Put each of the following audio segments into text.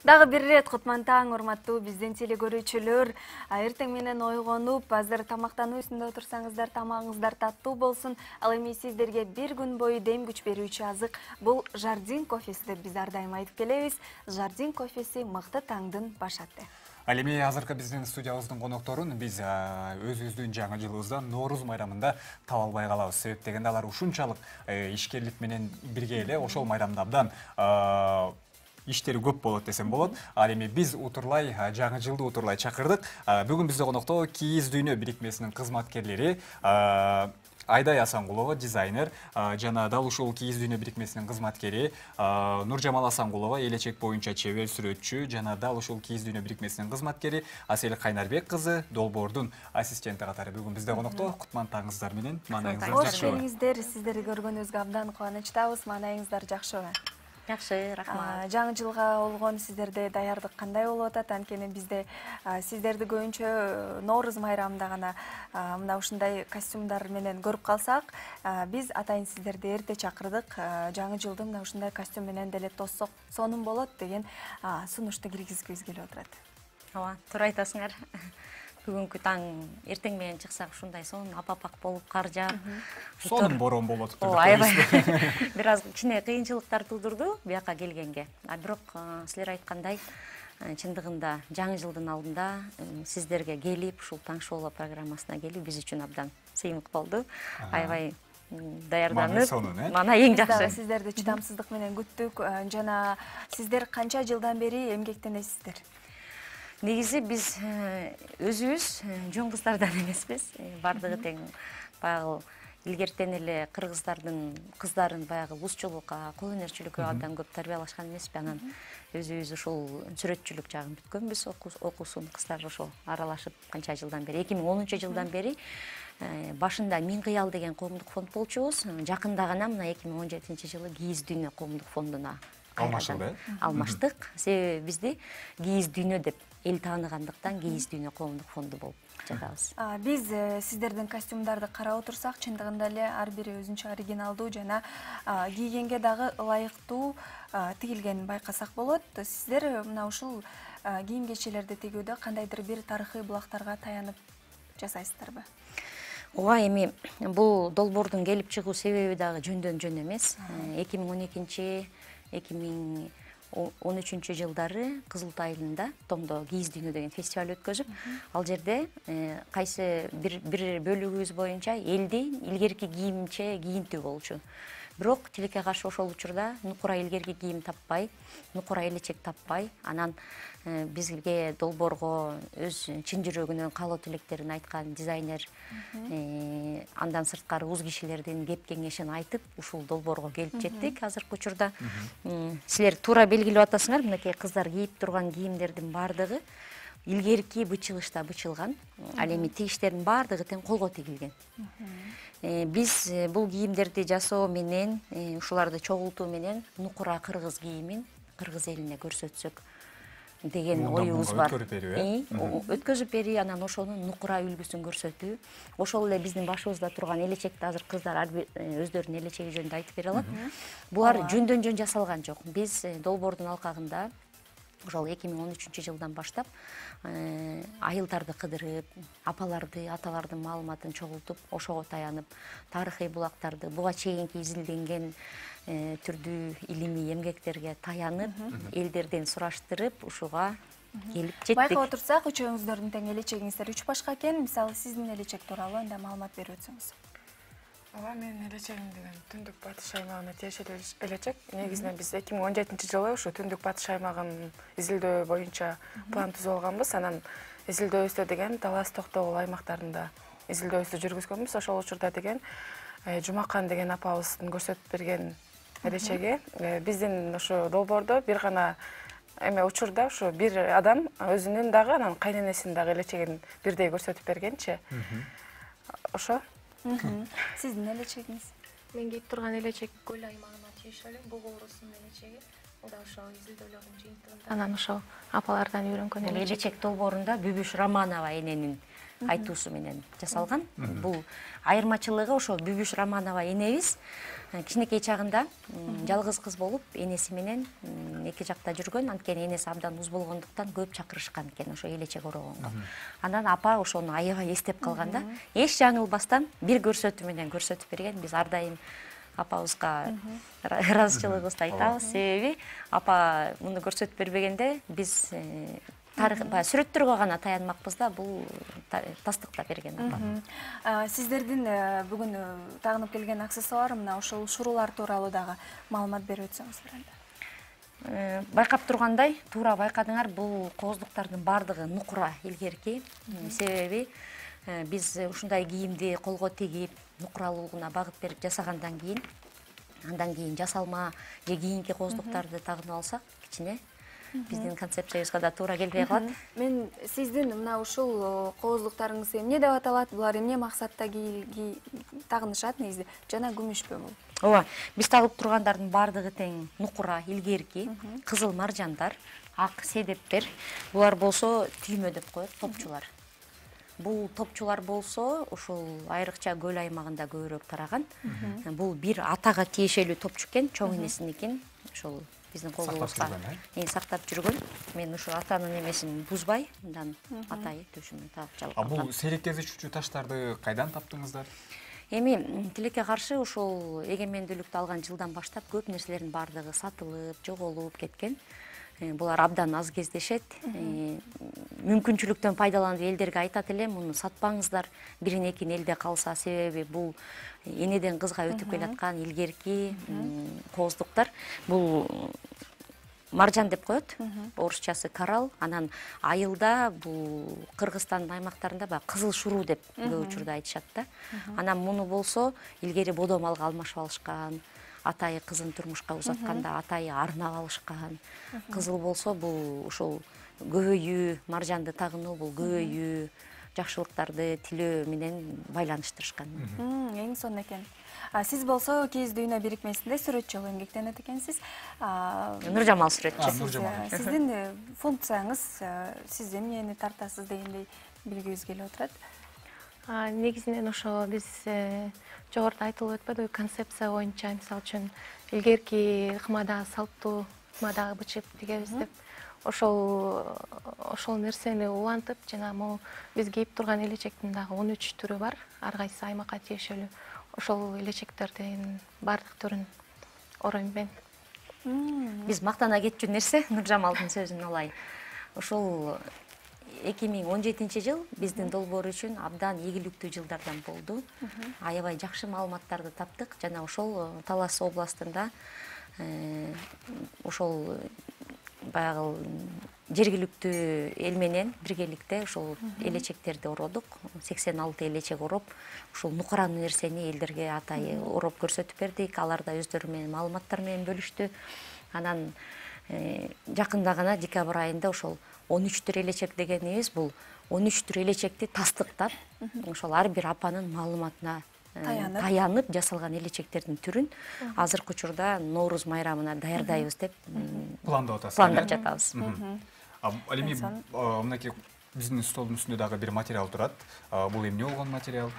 Дагы бир ирет кутман таң, урматтуу биздин телекөрүүчүлөр. Эртең менен ойгонуп, азыр тамактануу үстүндө отурсаңыздар, тамагыңыздар таттуу болсун. Ал эми сиздерге бир күн бою дем күч берүүчү азык бул Жардин кофеси деп биз ар дайым айтып келебиз. Жардин кофеси мыкты таңдын баш аты. Ал эми азыркы биздин студиябыздын конокторун биз өзүбүздүн жаңы жылыбызда Нооруз майрамында таба албай калабыз. Себеп дегенде алар ушунчалык ишкерлик менен бирге эле ошол майрамда абдан иштери көп болот десем болот. Ал эми биз утурлай жаңы жылды утурлай чакырдык. Бүгүн бизде конокто Кийиз дүйнө бирикмесинин кызматкерлери Айдай Асангулова, дизайнер, жана дал ушул Кийиз дүйнө бирикмесинин кызматкери Нуржамал Асангулова, элечек боюнча чебер сүрөтчү, жана дал ушул Кийиз дүйнө бирикмесинин кызматкери Асель Кайнарбек кызы, долбоордун ассистенти катары бүгүн бизде конокто. Кутман таңыңыздар менен. Маанайыңыздар жакшыбы? Кош келиңиздер. Сиздерди көргөнүбүзгө абдан кубанычтабыз. Маанайыңыздар жакшыбы? Жакшы, рахмат. Жаңы жылга болгон сиздерде даярдык кандай болуп атат? Анткени бизде сиздерди көбүнчө Нооруз майрамында гана мына ушундай костюмдар менен көрүп калсак, биз атайын сиздерди эрте чакырдык. Жаңы жылды мына ушундай костюм менен деле тоссок сонун болот деген сунушту киргизгибиз келип отурат. Ооба, туура айтасыңар. Бүгүнкү таң эртең менен чыксак ушундай сонун апапак болуп кар жаап. Сонун борон болуп атыптыр. Ооба, аябай. Бир аз кичине кыйынчылыктар туудурду бияка келгенге. Бирок силер айткандай, чындыгында жаңы жылдын алдында сиздерге келип, ушул Таң шоу программасына келип биз үчүн абдан сыймык болду. Аябай даярданып, мана эң жакшы. Сиздерди чыдамсыздык менен күттүк. Жана сиздер канча жылдан бери эмгектенесиздер? Негизи биз өзүбүз жон кыздардан эмеспиз. Бардыгы тең баягы илгертен эле кыргыздардын кыздарын баягы узчулукка, кол өнөрчүлүккө абдан көп тарбиялашкан эмеспи. Анан өзүбүз ушул сүрөтчүлүк жагын бүткөнбүз, окуусун кыздар ошо аралашып канча жылдан бери, 2010-жылдан бери башында Мин кыял деген коомдук фонд болчубуз. Жакында гана мына 2017-жылы Кийиз дүйнө коомдук фондуна алмаштык. Себеби бизди Кийиз дүйнө деп эл тааныгандыктан Кийиз дүйнө коомдук фонду болуп жатабыз. Биз сиздердин костюмдарды карап отурсак, чындыгында эле ар бири өзүнчө оригиналдуу жана кийгенге дагы ылайыктуу тигилгенин байкасак болот. Сиздер мына ушул кийим кечелерди тигүүдө кандайдыр бир тарыхый булактарга таянып жасайсыздарбы? Ооба, эми бул долбоордун келип чыгуу себеби дагы жөндөн жөн эмес. 2012-2013 жылдары Кызылтай айылында Томдо Кийиз дүйнө деген фестиваль өткөзүп, ал жерде кайсы бир бөлүгүбүз боюнча элди илгерки кийимче кийинтүү болчу. Бирок тилекке каршы ошол учурда нукура илгерки кийим таппай, нукура элечек таппай, анан бизге долбоорго өз чын жүрөгүнөн каалоо тилектерин айткан дизайнер, андан сырткары уз кишилердин кеп кеңешин айтып, ушул долбоорго келип жеттик. Азыркы учурда силер туура белгилеп атасыңар, мынакей кыздар кийип турган кийимдердин баардыгы илгерки бычылышта бычылган. Ал эми тигиштердин баардыгы тең колго тигилген. Биз бул кийимдерди жасоо менен, ушуларды чогултуу менен нукура кыргыз кийимин кыргыз элине көрсөтсөк деген оюбуз бар. Өткөзүп берүү, анан ошонун нукура үлгүсүн көрсөтүү. Ошол эле биздин башыбызда турган элечекти азыр кыздар өздөрүнүн элечеги жөнүндө айтып бере алат. Булар жөндөн жөн жасалган жок. Биз долбоордун алкагында ошол 2013-жылдан баштап айылдарды кыдырып, апаларды, аталардын маалыматын чогултуп, ошого таянып, тарыхый булактарды, буга чейинки изилденген түрдүү илимий эмгектерге таянып, элдерден сураштырып, ушуга келип жеттик. Байкап отурсак, үчөөңүздөрдүн тең элечегиңиздер 3 башка экен. Мисалы, сиздин элечек тууралуу анда маалымат берип өтсөңүз. Ооба, менин элечегим деген Түндүк Батыш аймагына тиешелүү элечек. Негизинен биз 2017-жылы ушу Түндүк Батыш аймагын изилдөө боюнча план түзүп алганбыз. Анан изилдөөбүздө деген Талас Токтогул аймактарында изилдөөбүздү жүргүзгөнбүз. Ошол учурда деген Жумакан деген апабыздын көрсөтүп берген элечеги биздин ошо долбоордо бир гана учурда ошо бир адам өзүнүн дагы анан кайненесинин дагы элечегин бирдей көрсөтүп бергенчи. Ошо. Сиздин элечегиңиз? Мен кийип турган элечек Көл аймагына тиешелүү, Бугу уруусунун элечеги. Ал да ошо изилдөөлөрдүн жыйынтыгында. Анан ошо апалардан үйрөнгөн элечек долбоорунда Бүбүш Романова эненин айтуусу менен жасалган. Бул айырмачылыгы ошо Бүбүш Романова энебиз кичинекей чагында жалгыз кыз болуп, энеси менен эки жакта жүргөн. Анткени энеси абдан уз болгондуктан көп чакырышкан экен ошо элечек орогонго. Анан апа ошону аябай эстеп калганда, эч жаңылбастан бир көрсөтүү менен көрсөтүп берген. Биз ар дайым апабызга ыраазычылыгыбызды айтабыз. Себеби апа муну көрсөтүп бербегенде биз тарых баягы сүрөттөргө гана таянмакпыз да, бул тастыктап берген апа. Сиздердин бүгүн тагынып келген аксессуар мына ошол шурулар тууралуу дагы маалымат берип өтсөңүздөр анда. Байкап тургандай, туура байкадыңар, бул кооздуктардын баардыгы нукура илгерки. Себеби биз ушундай кийимди колго тигип, нукуралуулугуна багыт берип жасагандан кийин, андан кийин жасалма же кийинки кооздуктарды тагынып алсак, кичине биздин концепциябызга да туура келбей калат. Мен сиздин мына ушул кооздуктарыңыз эмне деп аталат? Булар эмне максатта тагынышат негизи? Жана күмүшпү бул? Ооба, биз тагып тургандардын баардыгы тең нукура илгерки, кызыл маржандар, ак седептер. Булар болсо түймө деп коет, топчулар. Бул топчулар болсо ушул айрыкча көл аймагында көбүрөөк тараган. Бул бир атага тиешелүү топчу экен, чоң энесиники. Ошол биздин колубузга сактап жүргөн. Мен ушу атанын эмесин бузбай, мындан атайы төшүмөн тагып жалгам. Бул сейрек кезишүүчү таштарды кайдан таптыңыздар? Эми тилекке каршы ушул эгемендүүлүктү алган жылдан баштап көп нерселердин баардыгы сатылып, жоголуп кеткен. Булар абдан аз кездешет. Мүмкүнчүлүктөн пайдаланып элдерге айтат элем, муну сатпаңыздар, бирин экин элде калса, себеби бул энеден кызга өтүп келаткан илгерки кооздуктар. Бул маржан деп коет, орусчасы коралл. Анан айылда бул Кыргызстандын аймактарында баягы кызыл шуруу деп көп учурда айтышат да. Анан муну болсо илгери бодомалга алмашып алышкан. Атайы кызын турмушка узатканда атайы арнап алышкан. Кызыл болсо бул ушул көбөйүү, маржанды тагынуу, бул көбөйүү, жакшылыктарды тилөө менен байланыштырышкан. Эң сонун экен. Сиз болсо Кийиз дүйнө бирикмесинде сүрөтчү болуп эмгектенет экенсиз. Нуржамал сүрөтчү. Сиздин функцияңыз, сиз эмнени тартасыз дегендей билгибиз келип отурат. Негизинен ошо биз жогоруда айтылып өтпөдүбү, концепция боюнча, мисалы үчүн илгерки ыкмада салттуу ыкмада бычып тигебиз деп ошол нерсени улантып, жана могу биз кийип турган элечектин дагы 13 түрү бар, ар кайсы аймакка тиешелүү. Ошол элечектердин баардык түрүн оройм мен. Биз мактана кетчү нерсе, Нуржамалдын сөзүн алайын. Ошол 2017 жыл биздин долбоор үчүн абдан ийгиликтүү жылдардан болду. Аябай жакшы маалыматтарды таптык жана ошол Талас областында ошол баягы жергиликтүү эл менен биргеликте ошол элечектерди ородук. 86 элечек ороп, ушул нукуранын нерсени элдерге атайы ороп көрсөтүп бердик. Алар да өздөрү менен маалыматтар менен бөлүштү. Анан жакында гана декабрь айында ошол 13 түр элечек дегенибиз бул 13 түр элечекти тастыктап, ошол ар бир апанын маалыматына таянып жасалган элечектердин түрүн азыркы учурда Норуз майрамына даярдайбыз деп пландап атасыз. Пландап жатабыз. Ал эми мынакей биздин столдун үстүндө дагы бир материал турат. Бул эмне болгон материал?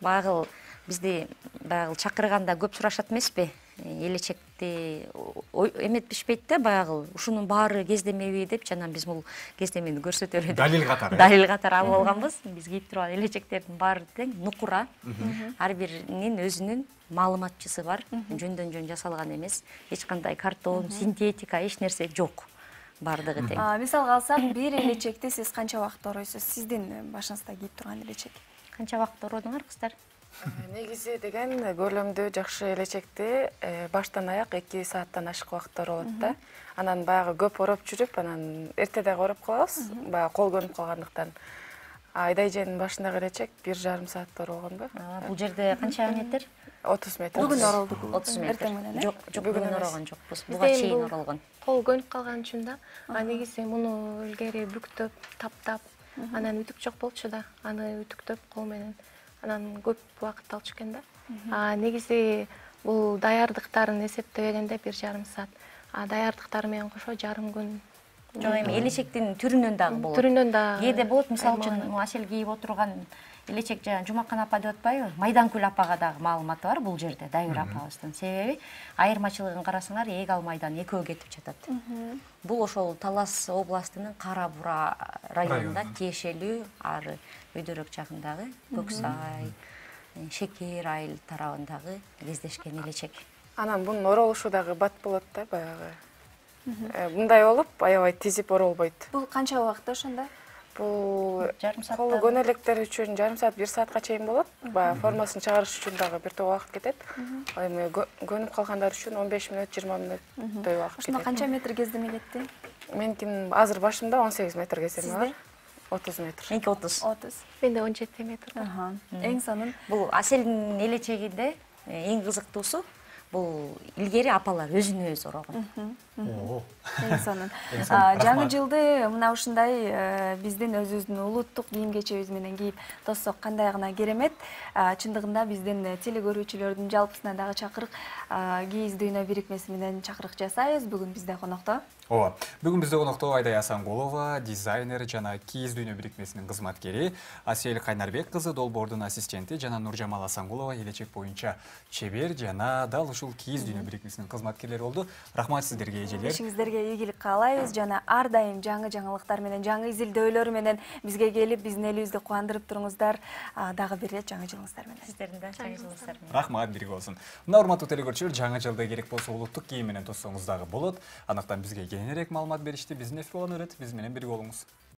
Баягы бизди баягы чакырганда көп сурашат эмеспи? Элечекти эметпишпейт да, баягы ушунун баары кездемеби деп, жана биз бул кездемени көрсөтөлү деп Далил катары. Далил катары алып алганбыз. Биз кийип турган элечектердин баары тең нукура. Ар биринин өзүнүн маалыматчысы бар. Жөндөн жөн жасалган эмес. Эч кандай картон, синтетика, эч нерсе жок. Баардыгы тең. Мисалга алсак, бир элечекти сиз канча убакытта оройсуз? Сиздин башыңызда кийип турган элечек. Канча убакытта ородуңар, кыздар? Негизи деген көрүлөмдүү жакшы элечекти баштан аяк 2 сааттан ашык убакытта оролот да. Анан баягы көп ороп жүрүп, анан эрте дагы ороп калабыз, баягы кол көнүп калгандыктан. Айдай жээнин башындагы элечек 1,5 саатта оролгонбу? Бул жерде канча метр? 30 метр. Бүгүн оролдук. 30 метр. Жок, бүгүн оролгон жокпуз. Буга Бизден чейин бул оролгон. Кол көнүп калган үчүн да. Негизи муну илгери бүктөп, таптап, анан үтүк жок болчу да. Аны үтүктөп кол менен анан көп убакыт алчу экен да. Негизи бул даярдыктарын эсептебегенде 1,5 саат. Даярдыктары менен кошо жарым күн Жок, эми элечектин түрүнөн дагы болот. Түрүнөн да Кээде болот, мисалы үчүн Асель кийип отурган элечек жана Жумакан апа деп атпайбы? Майданкүл апага дагы маалыматы бар бул жерде, Дайыр апабыздын. Себеби айырмачылыгын карасаңар, Ээг ал майдан экөө кетип жатат. Бул ошол Талас областынын Кара Бура районунда тиешелүү, ары өйдөрөк жагындагы Көксай, Шекер айыл тарабындагы кездешкен элечек. Анан бунун оролушу дагы бат болот да, баягы. Мындай болуп, аябай тизип оролбойт. Бул канча убакытта ошондо? Бул Жарым саатта. колу көнөлөктөр үчүн жарым саат, 1 саатка чейин болот. Баягы формасын чыгарыш үчүн дагы бир топ убакыт кетет. Эми көнүп калгандар үчүн 15 мүнөт, 20 мүнөттөй убакыт кетет. Ошондо канча метр кездеме кетти? Меникин азыр башымда 18 метр кездеме бар. 30 метр. Меники 30. 30. Менде 17 метр. Эң сонун. Бул Аселдин элечегинде эң кызыктуусу бул илгери апалар өзүнө өзү орогон. Эң сонун. Жаңы жылды мына ушундай биздин өзүбүздүн улуттук кийим кечебиз менен кийип тоссок кандай гана керемет. Чындыгында биздин теле көрүүчүлөрдүн жалпысына дагы чакырык кийиз дүйнө бирикмеси менен чакырык жасайбыз. Бүгүн бизде конокто. Ооба. Бүгүн бизде конокто Айдай Асангулова, дизайнер жана кийиз дүйнө бирикмесинин кызматкери, Асель Кайнарбек кызы долбоордун ассистенти жана Нуржамал Асангулова элечек боюнча чебер жана дал ушул кийиз дүйнө бирикмесинин кызматкерлери болду. Рахмат сиздерге, эжелер. Ишиңиздерге ийгилик каалайбыз жана ар дайым жаңы жаңылыктар менен, жаңы изилдөөлөр менен бизге келип, биздин элибизди кубандырып туруңуздар. Дагы бир ирет жаңы жылыңыздар менен. Сиздердин да жаңы жылыңыздар менен. Рахмат, бирге болсун. Мына урматтуу телекөрүүчүлөр, жаңы жылда керек болсо улуттук кийим менен тоссоңуз дагы болот. Андыктан бизге кененирээк маалымат беришти, биздин эфир болон өрөт. Биз менен бирге болуңуз.